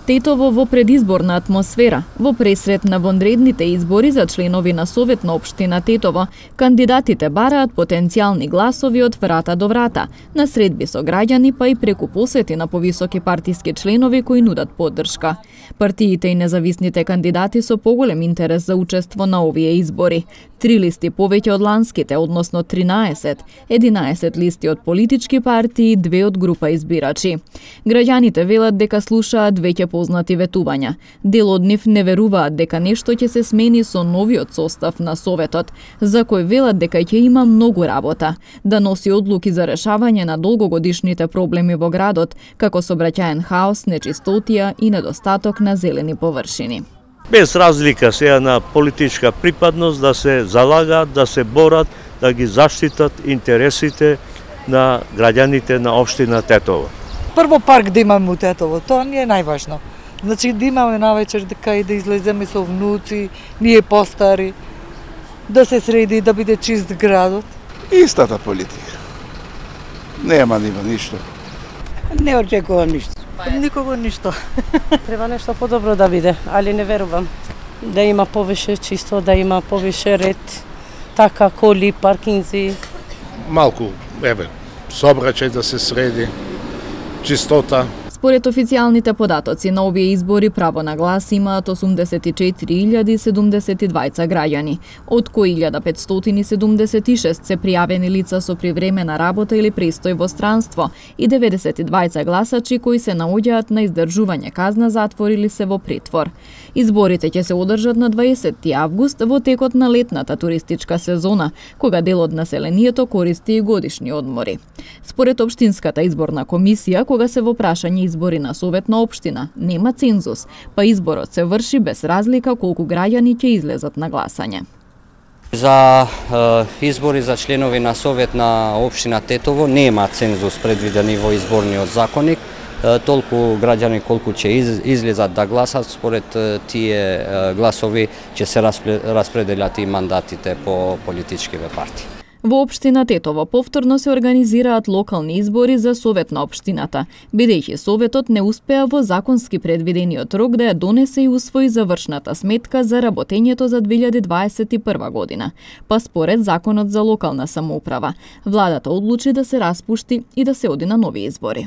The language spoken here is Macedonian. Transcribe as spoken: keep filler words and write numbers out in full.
Тетово во предизборна атмосфера. Во пресрет на вонредните избори за членови на Совет на општина Тетово, кандидатите бараат потенцијални гласови од врата до врата, на средби со граѓани, па и преку посети на повисоки партиски членови кои нудат поддршка. Партиите и независните кандидати со поголем интерес за учество на овие избори. Три листи повеќе од ланските, односно тринаесет, единаесет листи од политички партии, две од група избирачи. Граѓаните велат дека слушаат веќе познати ветувања. Дел од нив не веруваат дека нешто ќе се смени со новиот состав на Советот, за кој велат дека ќе има многу работа, да носи одлуки за решавање на долгогодишните проблеми во градот, како сообраќаен хаос, нечистотија и недостаток на зелени површини. Без разлика сега на политичка припадност да се залагаат, да се борат, да ги заштитат интересите на граѓаните на општина Тетово. Прво парк да имаме у Тетово, тоа ни е најважно. Значи да имаме навечер дека и да излеземе со внуци, ние постари, да се среди, да биде чист градот. Истата политика. Нема нива ништо. Не очекувам ништо. Никого ништо. Треба нешто подобро да биде, али не верувам. Да има повише чисто, да има повише ред, така коли, паркинзи. Малку, еве, сообраќај да се среди, чистота. Според официјалните податоци на овие избори право на глас имаат осумдесет и четири илјади седумдесет и двајца граѓани, од кои илјада петстотини седумдесет и шест се пријавени лица со привремена работа или престој во странство и деветдесет и двајца гласачи кои се наоѓаат на издржување казна затвор или се во притвор. Изборите ќе се одржат на дваесетти август во текот на летната туристичка сезона, кога дел од населението користи и годишни одмори. Според општинската изборна комисија, кога се во прашање избори на Совет на општина, нема цензус, па изборот се врши без разлика колку граѓани ќе излезат на гласање. За е, избори за членови на Совет на општина Тетово нема цензус предвидени во изборниот законник. Е, толку граѓани колку ќе из, излезат да гласат, според е, тие е, гласови ќе се распределат и мандатите по политичкиве партии. Во општина Тетово повторно се организираат локални избори за Совет на општината, бидејќи Советот не успеа во законски предвидениот рок да ја донесе и усвои завршната сметка за работењето за две илјади дваесет и прва година. Па според Законот за локална самоуправа, владата одлучи да се распушти и да се оди на нови избори.